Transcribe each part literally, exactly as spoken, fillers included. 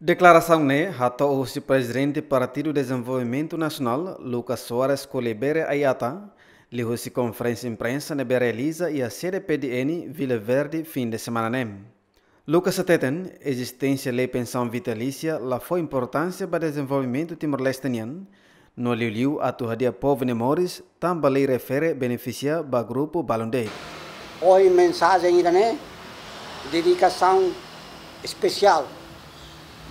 Deklarasaun ne'e hato'o husi Prezidente Partidu Dezenvolvimentu Nasionál, Lucas Soares Kolibere Ayata, liuhusi konferénsia imprensa ne'ebé realiza iha sede P D N Vila Verde fin de semana ne'e. Lucas hateten, ezisténsia lei pensaun vitalísia la fó importánsia ba dezenvolvimentu Timor-Leste nian, no liuliu atu hadi'a povu nia moris, tanba lei refere benefisia ba grupu balun de'it. Ohin mensajen ida-ne'e, dedikasaun espesiál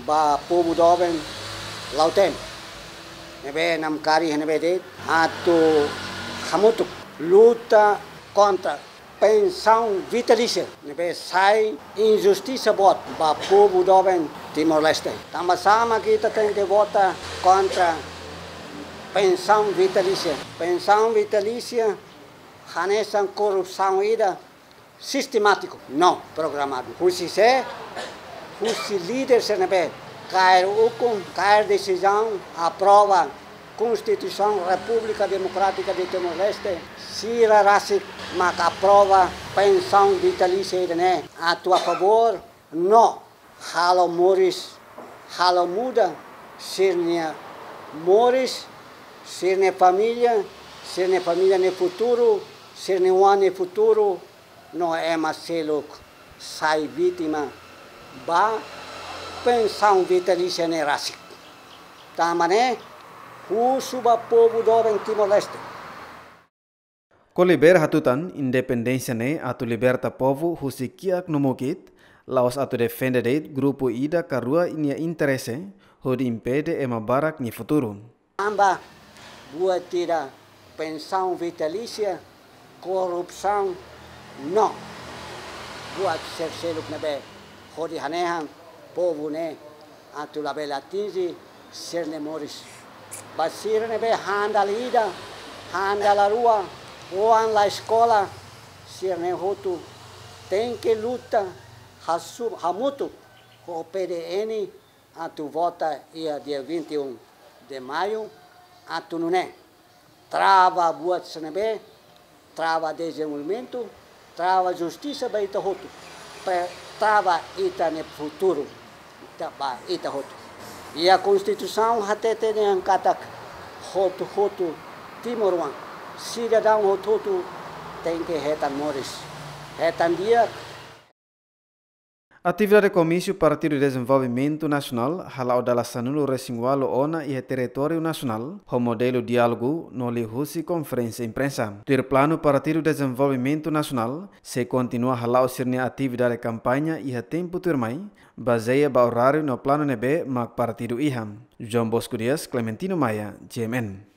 ba povu doben Lautém, ne'ebé namkari iha ne'ebé de'it, atu hamutuk luta kontra pensaun vitalísia ne'ebé sai injustisa boot ba povu doben Timor-Leste. Tanba sá mak ita tenke vota kontra pensaun vitalísia. Pensaun vitalísia hanesan korrupsaun ida sistemátiku, no programadu. Husi sé? Husi líder sira ne'ebé kaer ukun, kaer desizaun, aprova Konstituisaun Repúblika Demokrátika de Timor-Leste, sira rasik mak aprova pensaun vitalísia ida-ne'e, atu a favór, no halo moris, halo muda sira-nia moris, sira-nia família, sira-nia família nia futuru, sira-nia oan nia futuru, no ema seluk sai vítima ba pensaun vitalísia ne'e rasik. Tanba ne'e, husu ba povu doben Timor-Leste. Kolibere hatutan, independénsia ne'e atu liberta povu husi kiak no mukit, la'ós atu defende de'it grupu ida ka rua nia interese, hodi impede ema barak nia futuru. Tanba buat ida pensaun vitalísia, korrupsaun, no buat sira seluk ne'ebé hodi hanehan povu ne'e atu labele atinje sira-nia moris. Ba sira ne'ebé han dala ida, han dala rua, oan la eskola, sira-ne'e hotu tenke luta hasu-, hamutuk ho P D N atu vota iha dia vinte e um de Maio, atu nune'e trava buat sira ne'ebé trava dezenvolvimentu, trava justisa ba ita hotu, pe-, trava ita-nia futuru, ita ba ita hotu. Iha Konstituisaun hatete dehan katak hotu-hotu timoroan, sidadaun hotu-hotu tenke hetan moris, hetan di'ak. Atividade komísiu Partidu Dezenvolvimentu Nasionál hala'o dala sanulu-resin-ualu ona iha territóriu nasionál, ho modelu diálogu no liuhusi konferénsia imprensa. Tuir planu Partidu Dezenvolvimentu Nasionál sei kontinua hala'o sira-nia atividade kampaña iha tempu tuirmai, bazeia ba oráriu no planu ne'ebé mak partidu iha. João Bosco Dias, Clementino Maia, G M N.